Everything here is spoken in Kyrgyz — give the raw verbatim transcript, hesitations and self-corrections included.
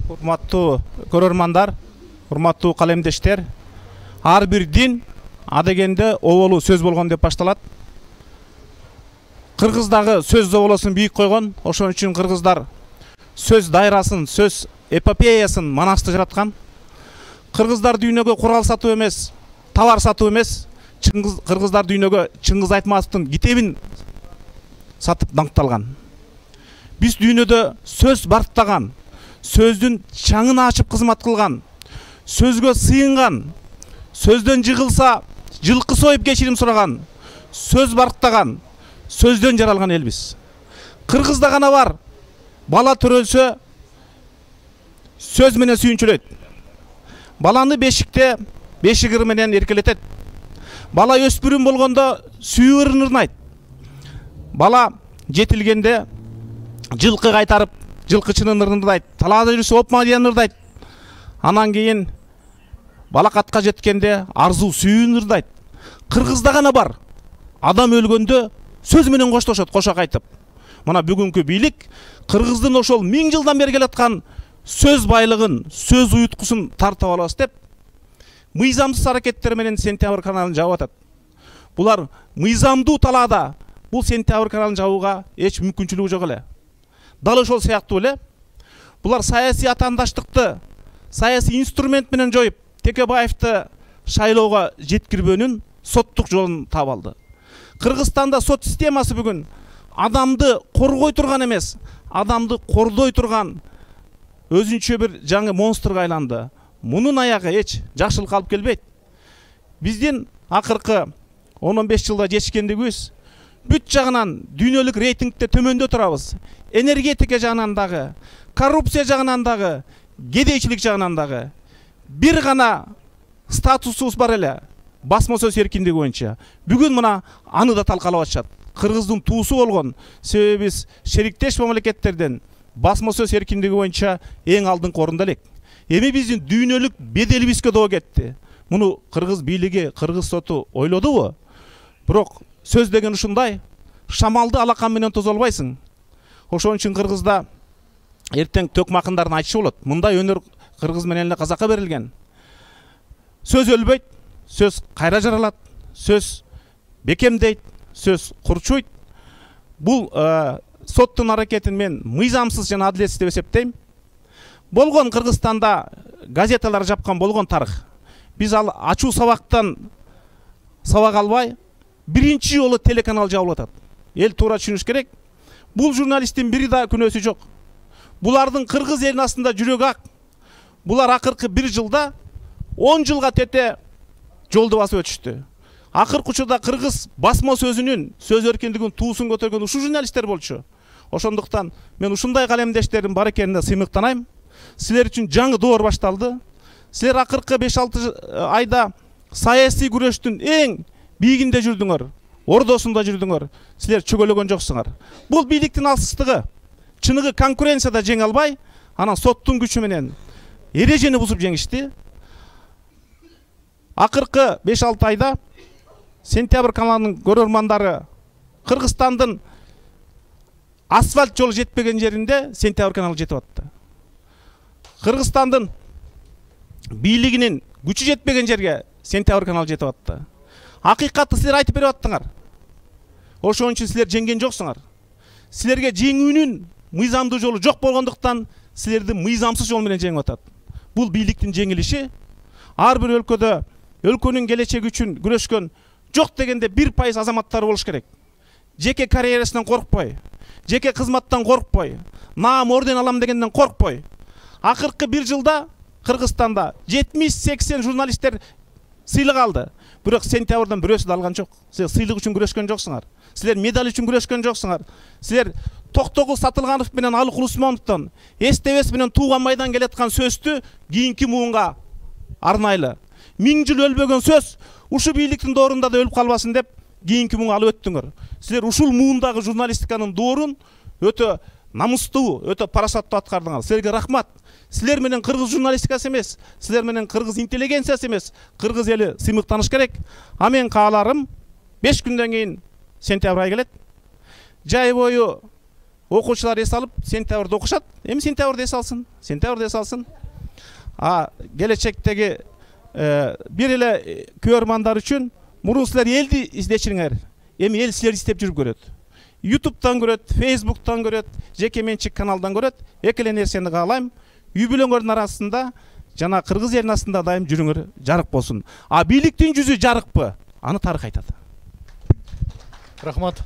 Урматтуу көрөрмандар, урматтуу калемдештер, ар бир дин адегенде оболу сөз болгон деп башталат. Кыргыздагы сөз оболосун бийик койгон, ошон үчүн кыргыздар сөз дайрасын, сөз эпопеясын манасты жараткан. Кыргыздар дүйнөгө курал сатуу эмес, товар сатуу эмес, кыргыздар дүйнөгө Чыңгыз Айтматовдун китебин сатып даңкталган. Биз дүйнөдө сөз барктаган, сөздүн чаңын ачып кызмат кылган, сөзгө сыйынган, сөздөн жыгылса жылкы союп кечирим сураган, сөз барктаган, сөздөн жаралган элбиз. Кыргызда гана бар, бала төрөлсө сөз менен сүйүнчүлөйт. Баланы бешикте бешик ыр менен эркелетет. Бала өспүрүм болгондо сүйүү ырын ырнайт. Бала жетилгенде жылкы кайтарып, жылкычынын ырын ырдайт. Талаада жүрсө опма деген ырдайт. Анан кийин балакатка жеткенде арзуу сүйүүн ырдайт. Кыргызда гана бар. Адам өлгөндө сөз менен коштошот, кошак айтып. Мына бүгүнкү бийлик кыргыздын ошол миң жылдан бери келаткан сөз байлыгын, сөз уюткусун тартып алабыз деп мыйзамсыз аракеттер менен Сентябрь каналын жаап атат. Булар мыйзамдуу талаада бул Сентябрь каналын жабууга эч мүмкүнчүлүгү жок эле. Дал ошол сыяктуу эле булар саясий атаандаштыкты саясий инструмент менен жоюп, Текебаевди шайлоого жеткирбөөнүн соттук жолун таап алды. Кыргызстанда сот системасы бүгүн адамды коргой турган эмес, адамды кордой турган өзүнчө бир жаңы монстрга айланды. Мунун аягы эч жакшылык алып келбейт. Биздин акыркы он он беш жылда жетишкендигибиз бүт жагынан дүйнөлүк рейтингде төмөндө турабыз. Энергетика жагынан дагы, коррупция жагынан дагы, кедейчилик жагынан дагы бир гана статусубуз бар эле. Басма сөз эркиндиги боюнча. Бүгүн мына аны да талкалап атышат. Кыргыздын туусу болгон, себеби биз шериктеш мамлекеттерден басма сөз эркиндиги боюнча эң алдыңкы орунда элек. Эми биздин дүйнөлүк беделибизге доо кетти. Муну кыргыз бийлиги, кыргыз соту ойлодубу? Бирок сөз деген ушундай, шамалды алакан менен тозо албайсың. Ошон үчүн кыргызда эртең төкмакындардын айтышы болот. Мындай өнөр кыргыз менен эле казакка берилген. Сөз өлбөйт, сөз кайра жаралат, сөз бекемдейт, сөз курчуйт. Бул соттун аракетин мен мыйзамсыз жана адилетсиз деп эсептейм. Болгон Кыргызстанда газеталар жапкан болгон тарых. Биз ал ачуу сабактан сабак албай, биринчи жолу телеканал жабылып атат. Эл туура түшүнүш керек. Бул журналисттин бири да күнөөсү жок. Булардын кыргыз элинин астында жүрөгү ак. Булар акыркы бир жылда он жылга тете жолду басып өтүштү. Акыркы учурда кыргыз басма сөзүнүн, сөз эркиндигинин туусун көтөргөн ушул журналисттер болчу. Ошондуктан мен ушундай калемдештердин бар экенине сыймыктанайм. Силер үчүн жаңы доор башталды. Силер акыркы беш алты айда саясий күрөштүн эң бийигинде жүрдүңөр, ордосунда жүрдүңөр. Силер чөгөлөгөн жоксуңар. Бул бийликтин алсыздыгы. Чыныгы конкуренцияда жеңе албай, анан соттун күчү менен эрежени бузуп жеңишти. Акыркы беш алты айда Сентябрь каналынын көрөрмандары Кыргызстандын асфальт жолу жетпеген жеринде Сентябрь каналы жетип атты. Кыргызстандын бийлигинин күчү жетпеген жерге Сентябрь каналы жетип атты. Акыйкатты силер айтып берип аттыңар. Ошон үчүн силер жеңген жоксуңар. Силерге жеңүүнүн мыйзамдуу жолу жок болгондуктан силерди мыйзамсыз жол менен жеңип атат. Бул бийликтин жеңилиши. Ар бир өлкөдө өлкөнүн келечеги үчүн күрөшкөн жок дегенде бир пайыз азаматтар болуш керек. Жеке карьерасынан коркпой, жеке кызматтан коркпой, наам орден алам дегенден коркпой. Акыркы бир жылда Кыргызстанда жетимиш сексен журналисттер сыйлык алды. Бирок Сентябрдан бирөөсү да алган жок. Силер сыйлык үчүн күрөшкөн жоксуңар. Силер медаль үчүн күрөшкөн жоксуңар. Силер Токтогул Сатылганов менен Алык Усмановдон эстебес менен тууган майдан келаткан сөздү кийинки муунга арнайлы. Миң жыл өлбөгөн сөз ушу бийликтин доорунда да өлүп калбасын деп кийинки муунга алып өттүңөр. Силер ушул муундагы журналистиканын доорун өтө намустуу, өтө парасаттуу аткардыңар. Силерге рахмат. Силер менен кыргыз журналистикасы эмес, силер менен кыргыз интеллигенциясы эмес, кыргыз эли сыймыктаныш керек. А мен кааларым беш күндөн кийин Сентябрь ай келет. Жай бою окуучулар эс алып сентябрда окушат. Эми сентябрда эс алсын, сентябрда эс алсын. А келечектеги бир эле көрөрмандар үчүн мурун силер элди издечиңер. Эми эл силерди издеп жүрүп көрөт. ютубтан көрөт, фейсбуктан көрөт, жеке менчик каналдан көрөт. Эки эле нерсени каалайм. Үй бүлөңөрдүн арасында жана кыргыз элинин астында дайым жүрүңөр жарык болсун. А бийликтин жүзү жарыкпы? Аны тарых айтат. Рахмат.